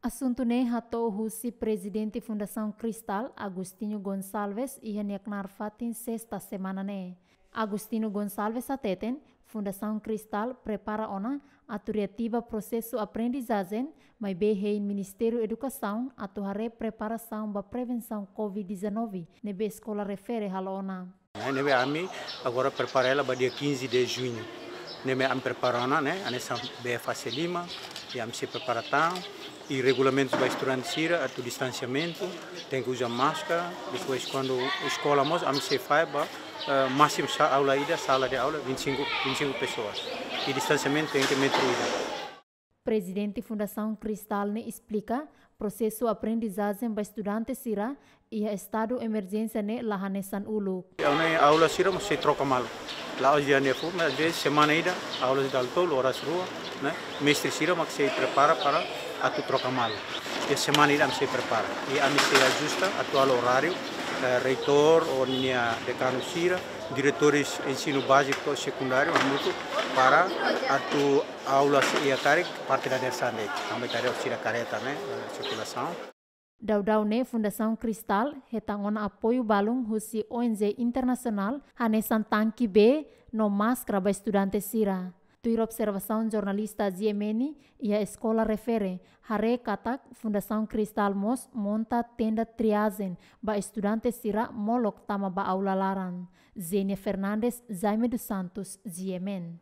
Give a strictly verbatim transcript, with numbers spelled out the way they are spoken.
Asuntu ne'e hato'o husi Prezidente Fundasaun Cristal, Agostinho Gonçalves, iha nia knaar fatin Sesta semana ne'e. Agostinho Gonçalves hateten, Fundasaun Cristal prepara ona atu reativa prosesu aprendizajen, maibé hein Ministériu Edukasaun atu haree preparasaun ba prevensaun covid dezanove, ne'ebé eskola refere halo ona. Ne'ebé ami agora prepara hela ba dia quinze de junho. Ne'ebé ami prepara ona, ne'e, hanesan bee fase liman, i ami sei prepara tan, i regulamentus ba estudante sira, atu distansiamentu, tenke uza máskara, depois kuandu eskola mós, ami sei fahe ba, eh, másimu sa-, aula ida, sala de aula, vinte e cinco, vinte e cinco pessoas. I distansiamentu tenke metru ida. Prezidente Fundasaun Cristal ne'e esplika, prosesu aprendizajen ba estudante sira iha estadu emerjénsia ne'e la hanesan uluk. Aula, aula sira mós sei troka malu. La'ós dia ne'e foun, mas às vezes semana ida, aulas dala tolu, oras rua, ne'e? Mestre sira mak sei prepara para atu troka malu. I semana ida ami sei prepara. I ami sei ajusta atu halo oráriu, eh, reitór ou nia dekanu sira, diretores ensinu báziku ou sekundáriu, hamutuk para atu aulas iha karik parte dadeer-saan de'it. Ami tare sira kareta, ne'e, eh, sirkulasaun. Daudaun ne'e Fundasaun Cristal hetan ona apoiu balun husi O N G internasionál, hanesan tanke bee no máskara ba estudante sira. Tuir observasaun jornalista G M N iha eskola refere, haree katak Fundasaun Cristal mós monta tenda triajen ba estudante sira molok tama ba aula laran. Zenia Fernandes, Jaime dos Santos, G M N.